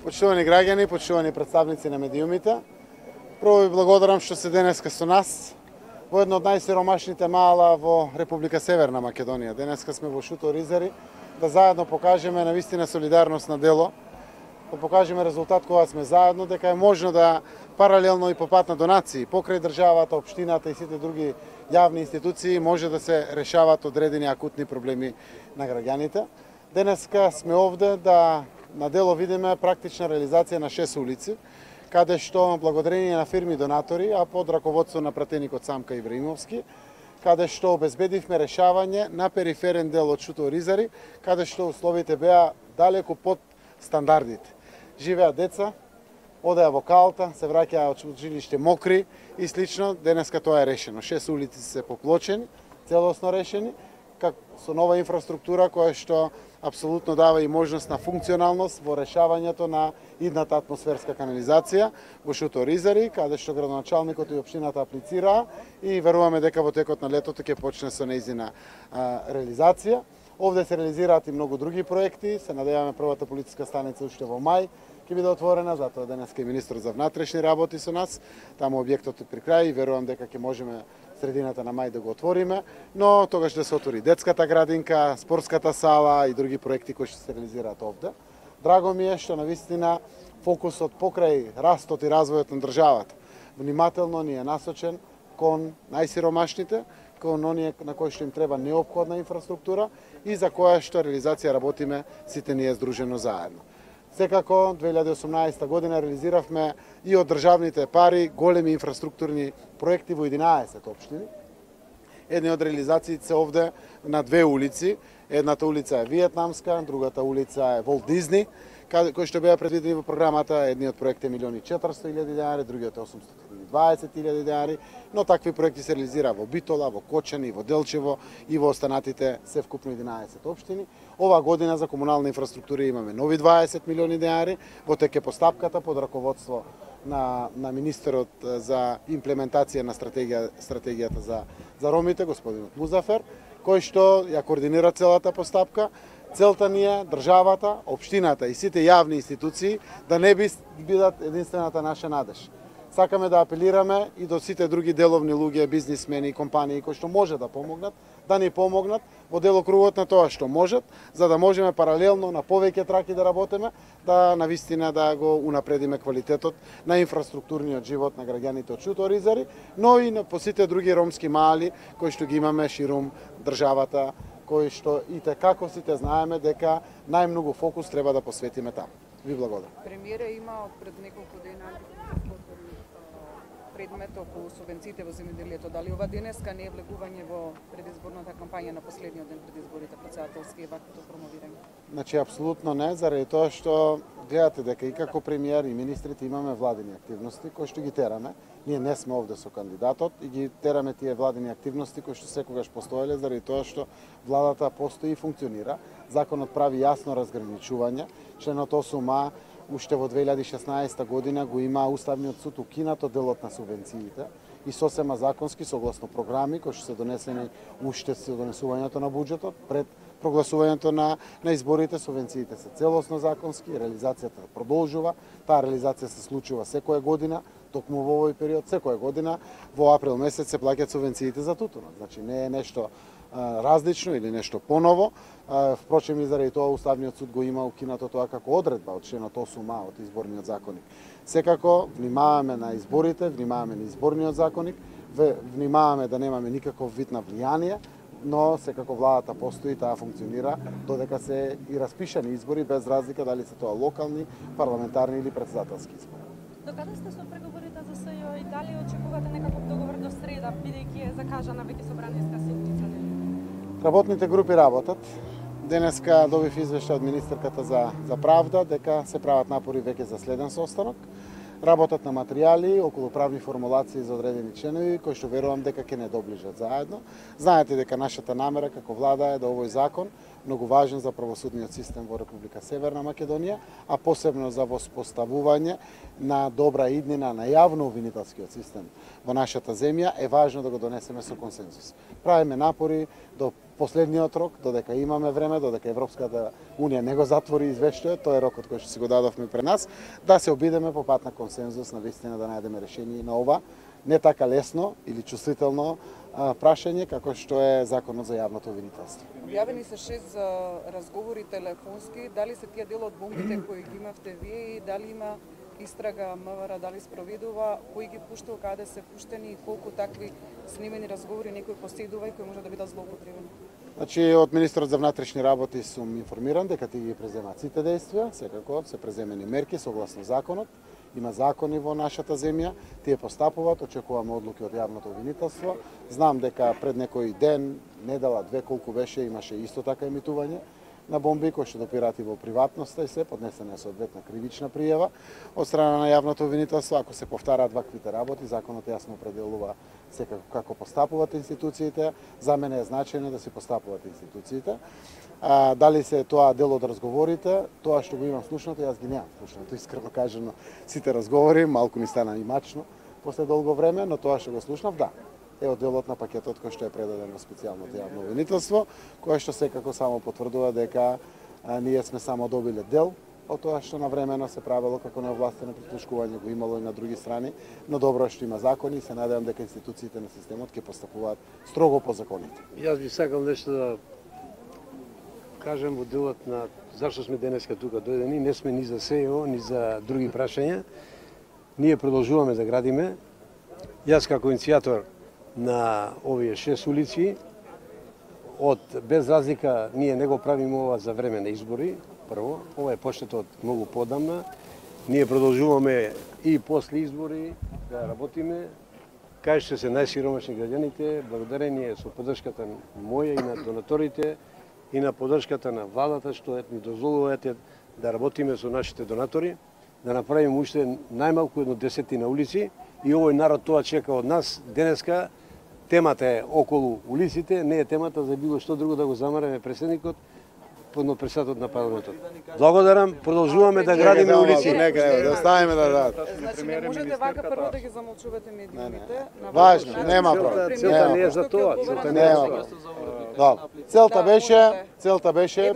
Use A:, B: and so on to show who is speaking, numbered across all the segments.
A: Почитувани граѓани, почитувани представници на медиумите, прво ви благодарам што се денеска со нас во едно од најсиромашните мала во Република Северна Македонија. Денеска сме во Шуто Оризари да заедно покажеме навистина солидарност на дело, да покажеме резултат кога сме заедно, дека е можно да паралелно и по пат на донации, покрај државата, општината и сите други јавни институции може да се решават одредени акутни проблеми на граѓаните. Денеска сме овде да на дело видиме практична реализација на 6 улици, каде што благодарение на фирми донатори, а под раководство на пратеникот Самка Ибраимовски, каде што обезбедивме решавање на периферен дел од Шуто Оризари, каде што условите беа далеку под стандардите. Живеа деца, одеа во калта, се враќаа од училиште мокри и слично. Денеска тоа е решено. 6 улици се поплочени, целосно решени, со нова инфраструктура која што апсолутно дава и можност на функционалност во решавањето на идната атмосферска канализација во Шуто Оризари, каде што градоначалникот и општината аплицираа и веруваме дека во текот на летото ќе почне со нејзина реализација. Овде се реализираат и многу други проекти, се надеваме првата полициска станица уште во мај ќе биде отворена, затоа денеска и министр за внатрешни работи со нас, таму објектот е при крај и верувам дека ќе можеме средината на мај да го отвориме, но тогаш да се отвори детската градинка, спортската сала и други проекти кои ќе се реализираат овде. Драго ми е што навистина фокусот покрај растот и развојот на државата внимателно ни е насочен кон најсиромашните, кон оние на кои што им треба неопходна инфраструктура и за која што реализација работиме сите ние здружено заедно. Секако, 2018 година реализиравме и од државните пари големи инфраструктурни проекти во 11 општини. Едни од реализациите се овде на 2 улици. Едната улица е Виетнамска, другата улица е Волт Дизни, кои што беа предвидени во програмата. Едниот проект е 1.400.000 денари, другиот е 820.000 денари, но такви проекти се реализира во Битола, во Кочани, во Делчево и во останатите се вкупно 11 општини. Ова година за комунална инфраструктура имаме нови 20 милиони денари, во тек е постапката под раководство на министерот за имплементација на стратегијата за ромите, господинот Музафер, кој што ја координира целата постапка. Целта ни е државата, општината и сите јавни институции да не бидат единствената наша надеж. Сакаме да апелираме и до сите други деловни луѓе, бизнисмени и компании кои што може да помогнат, да ни помогнат во делокругот на тоа што можат, за да можеме паралелно на повеќе траки да работиме, да навистина да го унапредиме квалитетот на инфраструктурниот живот на граѓаните од Шуто Оризари, но и по сите други ромски мали кои што ги имаме ширум државата, кои што и како сите знаеме дека најмногу фокус треба да посветиме таму. Ви благодарам.
B: Премиерът има пред неколку дена предмет околу субвенциите во земјоделието. Дали ова денеска не е влегување во предизборната кампања на последниот ден пред изборите претседателски и ваквото промовирање?
A: Значи, апсолутно не, заради тоа што гледате дека и како премиер и министрите имаме владини активности кои што ги тераме. Ние не сме овде со кандидатот и ги тераме тие владини активности кои што секогаш постоеле заради тоа што владата постои и функционира. Законот прави јасно разграничување. Членот 8а уште во 2016 година го има Уставниот суд укинато делот на субвенциите и сосема законски согласно програми кои што се донесени уште со донесувањето на буџетот пред прогласувањето на изборите. Субвенциите се целосно законски, реализацијата продолжува. Таа реализација се случува секоја година, токму во овој период, секоја година во април месец се плаќаат субвенциите за тутунот. Значи не е нешто различно или нешто поново. Впрочем и заради тоа Уставниот суд го има укинато тоа како одредба од членот 8а од изборниот законник. Секако внимаваме на изборите, внимаваме на изборниот законник, внимаваме да немаме никаков вид на влијание, но секако владата постои, таа функционира додека се и распишани избори без разлика дали се тоа локални, парламентарни или претседателски избори.
C: До каде сте со преговорите за СЈО и дали очекувате некаков договор до среда, бидејќи е закажана веќе собраниска седница?
A: Работните групи работат. Денеска добив извештај од министерката за правда дека се прават напори веќе за следен состанок. Работат на материјали околу правни формулации за одредени членови кои што верувам дека ќе не доближат заедно. Знаете дека нашата намера како влада е да овој закон многу важен за правосудниот систем во Република Северна Македонија, а посебно за воспоставување на добра иднина на јавно-обвинителскиот систем во нашата земја, е важно да го донесеме со консензус. Правиме напори до последниот рок, додека имаме време, додека Европската Унија не го затвори извештајот, тоа е рокот кој што си го дадовме пред нас, да се обидеме по пат на консензус, на вистина да најдеме решение на ова не така лесно или чувствително прашање како што е законот за јавното обвинителство.
B: Објавени се 6 разговори телефонски, дали се тие дел од бомбите кои ги имавте вие и дали има истрага МВР, дали спроведува, кои ги пуштил, каде се пуштени и колку такви снимени разговори некој поседува и кои може да бидат злоупотребени?
A: Значи, од министерот за внатрешни работи сум информиран дека тие ги преземаат сите действија, секако се преземени мерки согласно законот. Има закони во нашата земја, тие постапуваат, очекуваме одлуки од јавното обвинителство. Знам дека пред некој ден, недела, две, колку беше, имаше исто така емитување на бомби кои што допираат и во приватноста и се, поднесена е соодветна кривична пријава од страна на јавното обвинителство. Ако се повтараат ваквите работи, законот јасно определува секако како постапуваат институциите. За мене е значајно да се постапуваат институциите. Дали се тоа дел од разговорите, тоа што го имам слушнато, јас ги немам слушнато, искрено кажано, сите разговори, малку ми стана и мачно после долго време, но тоа што го слушнав, да, е од делот на пакетот кој што е предаден во специјалното јавно обвинителство, кој што секако само потврдува дека ние сме само добиле дел од тоа што навремено се правело како неовластено прислушкување, го имало и на други страни, но добро што има закони и се надевам дека институциите на системот ќе постапуваат строго по законите.
D: Јас би сакал нешто да кажем во делот на зашто сме денеска тука дојдени, не сме ни за СЕО, ни за други прашања. Ние продолжуваме да градиме. Јас како иницијатор на овие 6 улици, без разлика, ние не го правиме ова за време на избори, прво, ова е почнато од многу подамна. Ние продолжуваме и после избори да работиме, кај што се најсиромашни граѓаните, благодарение со поддршката моја и на донаторите, и на поддршката на владата што ни дозволуваат да работиме со нашите донатори, да направиме уште најмалку 10 улици и овој народ тоа чека од нас. Денеска темата е околу улиците, не е темата за било што друго да го замараме претседникот, председателот на парламентот. Благодарам, продолжуваме да градиме улици.
A: Нека да ставиме да дадат.
B: Значи не можете вака прво да ги замолчувате медиумите.
A: Важно, нема проблем.
D: Целта не е за тоа, целта не е за тоа.
A: Добро. Целта беше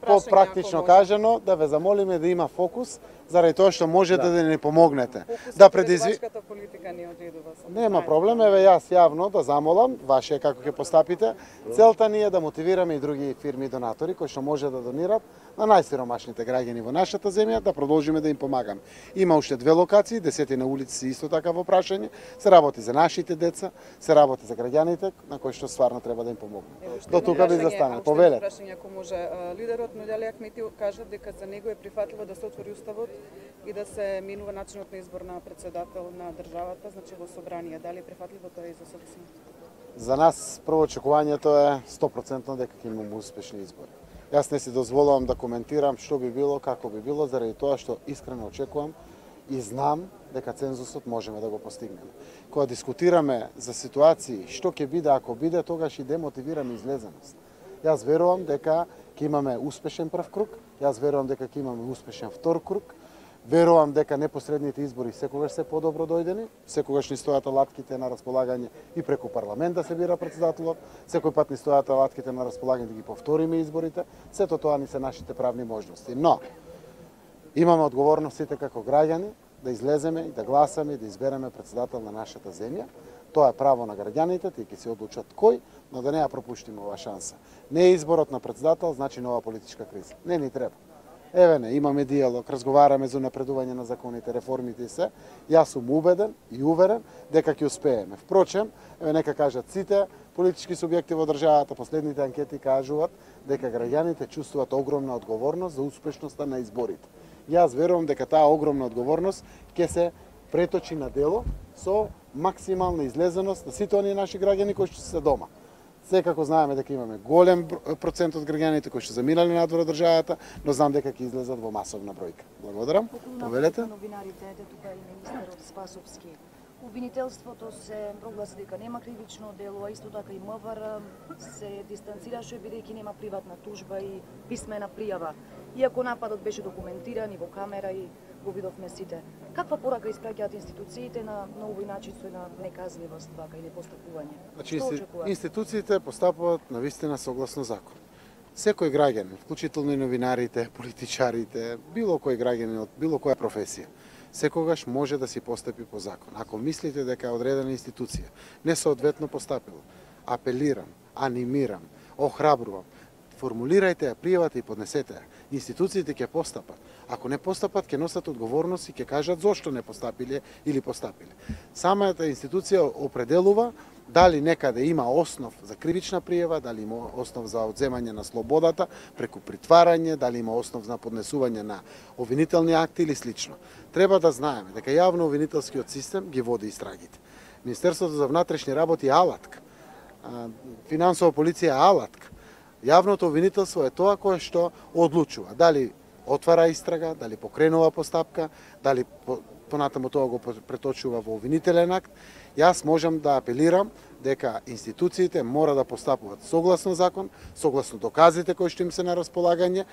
A: по-практично кажано да ве замолиме да има фокус заради тоа што можете да ни помогнете. Да
B: предизвикате политика не одредува.
A: Нема проблем, еве јас јавно да замолам, ваше како ќе постапите. Целта ни е да мотивираме и други фирми и донатори кои што може да донират на најсиромашните граѓани во нашата земја, да продолжиме да им помагаме. Има уште 2 локации, 10 на улици исто така во прашање, се работи за нашите деца, се работи за граѓаните на кои што стварно треба да им помогнеме. До тука би застане. Повелете.
B: Прашање ако може, лидерот Нудјали Ахмети кажа дека за него е прифатливо да се отвори уставот и да се минува начинот на избор на председател на државата, значи во собрание. Дали е прифатливо тоа и за СДСМ?
A: За нас прво очекувањето е 100% дека ќе имаме успешни избори. Јас не си дозволувам да коментирам што би било, како би било, заради тоа што искрено очекувам и знам дека цензусот можеме да го постигнеме. Кога дискутираме за ситуации што ќе биде ако биде, тогаш и демотивираме излезеност. Јас верувам дека ќе имаме успешен прв круг, јас верувам дека ќе имаме успешен втор круг, верувам дека непосредните избори секогаш се подобро дојдени, секогаш ни стојат алатките на располагање и преку парламент да се бира председателот, секој пат ни стојат алатките на располагање да ги повториме изборите, сето тоа ни се нашите правни можности. Но, имаме одговорност сите како граѓани да излеземе и да гласаме и да избереме председател на нашата земја. Тоа е право на граѓаните, тие ќе се одлучат кој, но да не ја пропуштиме ова шанса. Не е изборот на председател, значи нова политичка криза. Не ни треба. Еве не, имаме диалог, разговараме за напредување на законите, реформите и се. Јас сум убеден и уверен дека ќе успееме. Впрочем, еве нека кажат сите политички субјекти во државата, последните анкети кажуваат дека граѓаните чувствуваат огромна одговорност за успешноста на изборите. Јас верувам дека таа огромна одговорност ќе се преточи на дело со максимална излезеност на сите оние наши граѓани кои што се дома. Секако знаеме дека имаме голем процент од граѓаните кои што заминали надвор од државата, но знам дека ќе излезат во масовна бројка. Благодарам. Повелете.
E: Новинарите, ете тука и министерот Спасовски, Обвинителството се прогласи дека нема кривично дело, а исто така и МВР се дистанцираше бидејќи нема приватна тужба и писмена пријава. Иако нападот беше документиран и во камера и го видовме сите. Каква порака испраќаат институциите на овој начин со една неказливост вака и непостапување?
A: Значи,
E: Што очекувате?
A: институциите постапуваат навистина согласно закон. Секој граѓанин, вклучително и новинарите, политичарите, било кој граѓанин од било која професија, секогаш може да си постапи по закон. Ако мислите дека одредена институција несоодветно постапила, апелирам, анимирам, охрабрувам, формулирајте ја пријавата и поднесете ја. Институциите ќе постапат. Ако не постапат, ќе носат одговорност и ќе кажат зошто не постапиле или постапиле. Самата институција определува дали некаде има основ за кривична пријава, дали има основ за одземање на слободата преку притварање, дали има основ за поднесување на обвинителни акти или слично. Треба да знаеме дека јавно обвинителскиот систем ги води истрагите. Министерството за внатрешни работи е алатка, финансова полиција е алатка. Јавното обвинителство е тоа кое што одлучува дали отвара истрага, дали покренува постапка, дали понатаму тоа го преточува во обвинителен акт. Јас можам да апелирам дека институциите мора да постапуваат согласно закон, согласно доказите кои што им се на располагање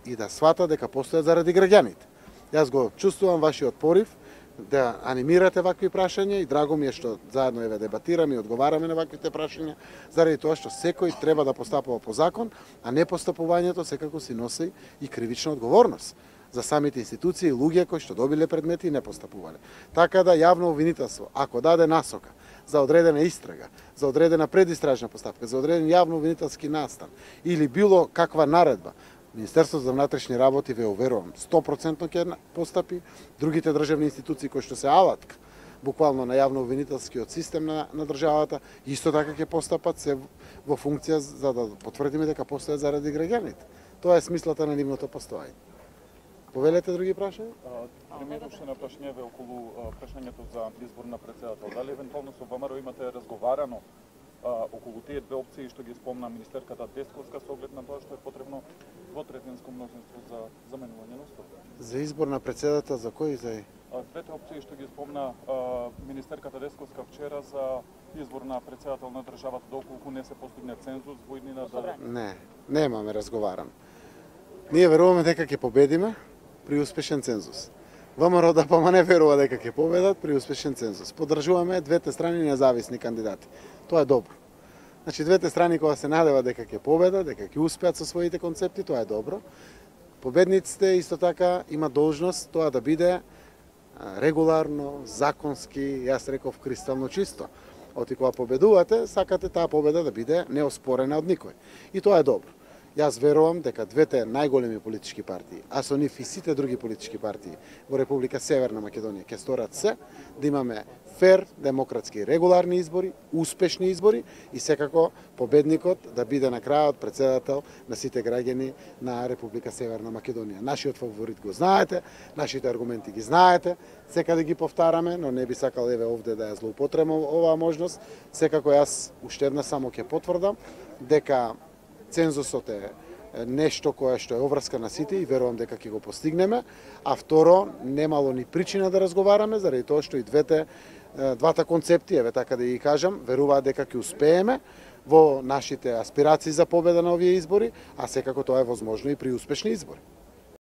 A: и да сватат дека постојат заради граѓаните. Јас го чувствувам вашиот порив да анимирате вакви прашања и драго ми е што заедно еве дебатираме и одговараме на ваквите прашања, заради тоа што секој треба да постапува по закон, а не постапувањето секако си носи и кривична одговорност за самите институции и луѓе кои што добиле предмети и не постапувале. Така да јавно обвинителство, ако даде насока за одредена истрага, за одредена предистражна постапка, за одреден јавно обвинителски настан или било каква наредба, Министерството за внатрешни работи, ве уверувам, 100% ќе постапи, другите државни институции кои што се алатка буквално на јавно обвинителскиот систем на државата, исто така ќе постапат се во функција за да потврдиме дека постојат заради граѓаните. Тоа е смислата на нивното постоење. Повелете други прашања?
F: Премиеруваше на прашањеве околу прашањето за избор на председател. Дали евентуално со ВМРО имате разговарано околу тие две опции што ги спомна министерката Десковска со оглед на тоа што е потребно двотретинско мнозинство за заменување на уставот?
A: За избор на председател за кој за
F: Двете опции што ги спомна министерката Десковска вчера за избор на председател на државата доколку не се постигне цензус во иднина да...
A: Не, немаме разговарано. Ние веруваме дека ќе победиме при успешен цензус. ВМРО ДПМН не верува дека ќе победат при успешен цензус. Поддржуваме двете страни независни кандидати. Тоа е добро. Значи двете страни кога се надева дека ќе победат, дека ќе успеат со своите концепти, тоа е добро. Победниците исто така има должност тоа да биде регуларно, законски, јас реков кристално чисто. Оти кога победувате, сакате таа победа да биде неоспорена од никој. И тоа е добро. Јас верувам дека двете најголеми политички партии, а со нив и сите други политички партии во Република Северна Македонија ќе сторат се да имаме фер, демократски, регуларни избори, успешни избори и секако победникот да биде на крајот председател на сите граѓани на Република Северна Македонија. Нашиот фаворит го знаете, нашите аргументи ги знаете, секаде ги повтараме, но не би сакал еве овде да ја злоупотребам оваа можност. Секако јас уште една само ќе потврдам дека цензусот е нешто кое што е обврска на сите и верувам дека ќе го постигнеме, а второ, немало ни причина да разговараме, заради тоа што и двата концепти, еве така да ги кажам, веруваат дека ќе успееме во нашите аспирации за победа на овие избори, а секако тоа е возможно и при успешни избори.